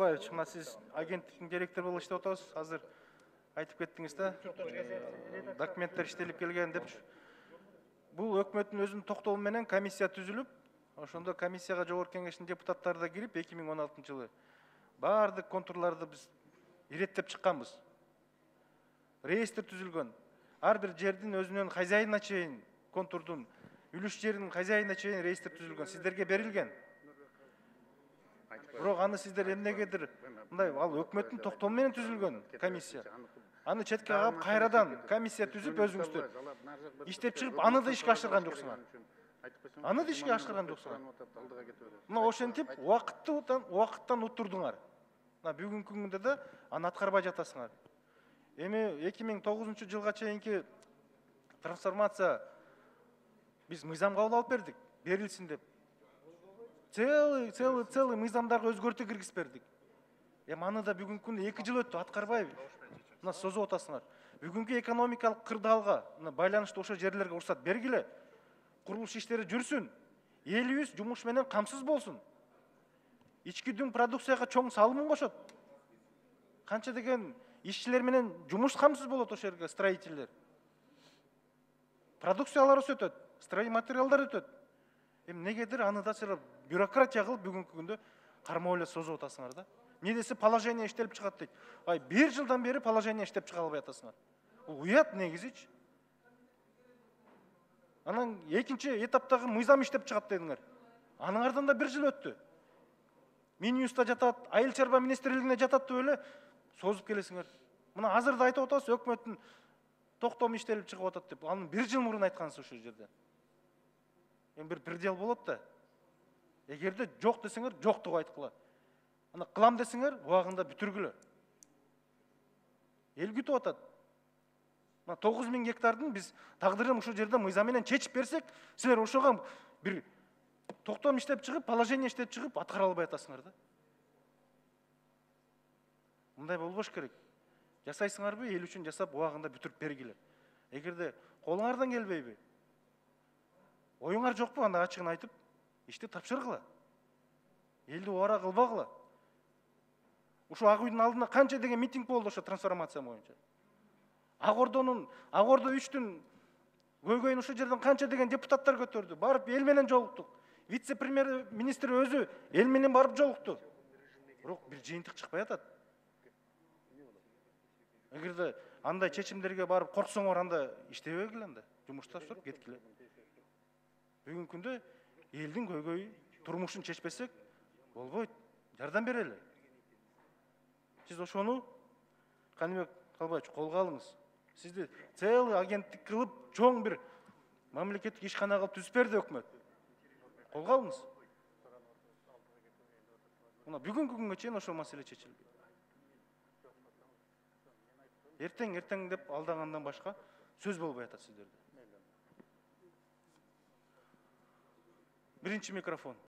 Калбаевич, мына сиз агенттиктин директору болуп иштеп атабыз. Азыр айтып кеттиңиз да, документтер иштелип келген депчи. Бул өкмөттүн өзүнүн токтому менен комиссия түзүлүп, ошондо комиссияга жогорку кеңештин депутаттары да кирип 2016-жылы баардык контурларды биз иреттеп чыкканбыз. Реестр түзүлгөн. Ар бир жердин өзүнүн хозяйына чейин контурдун, үлүш жеринин хозяйына чейин реестр түзүлгөн. Сиздерге берилген. Бирок аны сиздер эмнегедир мындай ал өкмөттүн токтому менен түзүлгөн комиссия. Аны четке кагып кайрадан комиссия түзүп өзүңүздөр иштеп чыгып, аны да ишке ашырган жоксуңар. Аны да ишке ашырган жоксуңар. Мына ошентип убакыттан утурдуңар. Мына бүгүнкү күндө да аны аткарбай жатасыңар. Эми 2009-жылга чейинки трансформация биз мыйзам кабыл алып бердик, берилсин деп. Целый мыйзамдарга өзгөртүү киргизип бердик. Эми аны да бүгүнкү күндө 2 жыл өттү, аткарбайбы? Мына созуп атасыңар. Бүгүнкү экономикалык кырдаалга байланыштуу ошо жерлерге уруксат бергиле. Курулуш иштери жүрсүн. Элибиз жумуш менен камсыз болсун. Ички дүң продукцияга чоң салымын кошот. Канча деген ишчилер менен жумуш камсыз болот ошол жерге, строительдер. Продукциялар өсөтөт, стройматериалдар өтөт. Эми негедир аны да силер бюрократия кылып бүгүнкү күндө кармоо эле созуп атасыңар да. Эмне десе положение иштелип чыгат дейт. 1 жылдан бери положение иштеп чыга албай атасыңар. Бул уят негизичи. Анан экинчи этаптагы мыйзам иштеп чыгат дедиңер. Аныңардан да 1 жыл өттү. Минюста жатат, айыл чарба министрлигине жатат деп эле созуп келесиңер. Мына азыр да айтып атабыз, өкмөттүн токтому иштелип чыгып атат деп. Аны 1 жыл мурун айткансыз ошол жерде. Эми бир предел болот да. Эгерде жок десеңер, жоктугу айткыла. Аны кылам десеңер, убагында бүтүргүлө. Эл күтүп атат. Мына 9000 гектардын биз тагдырын ушул жерде мыйзам менен чечип берсек, силер ошого бир токтом иштеп чыгып, положение иштеп чыгып, аткара албай атасыңар да. Мындай болбош керек. Жасайсыңарбы, эл үчүн жасап, убагында бүтүрүп бергиле. Эгерде колуңардан келбейби, оюңар жокпу, анда ачыгын айтып, ишти тапшыргыла. Элди убара кылбагыла. Ушу Ак үйдүн алдында канча деген митинг болду ошо трансформация боюнча. Ак Ордо 3-түн көйгөйүн ушул жерден канча деген депутаттар көтөрдү. Барып эл менен жолуктук. Вице-премьер министр өзү эл менен барып жолукту. Бирок бир жыйынтык чыкпай атат. Эгерде андай чечимдерге барып корксоңор, анда иштебегиле, анда жумушта туруп кеткиле. Бүгүнкү күндө элдин көйгөйү, турмушун чечпесек болбойт. Жардам берели. Сиз ошону Каныбек Калбаевич колго алыңыз. Сизди целый агенттик кылып, чоң бир мамлекеттик ишкана кылып түзүп берди өкмөт. Колго алыңыз. Мына бүгүнкү күнгө чейин ошол маселе чечилбейт. Эртең деп алдангандан башка сөз болбой атат сиздерде. Биринчи микрофон.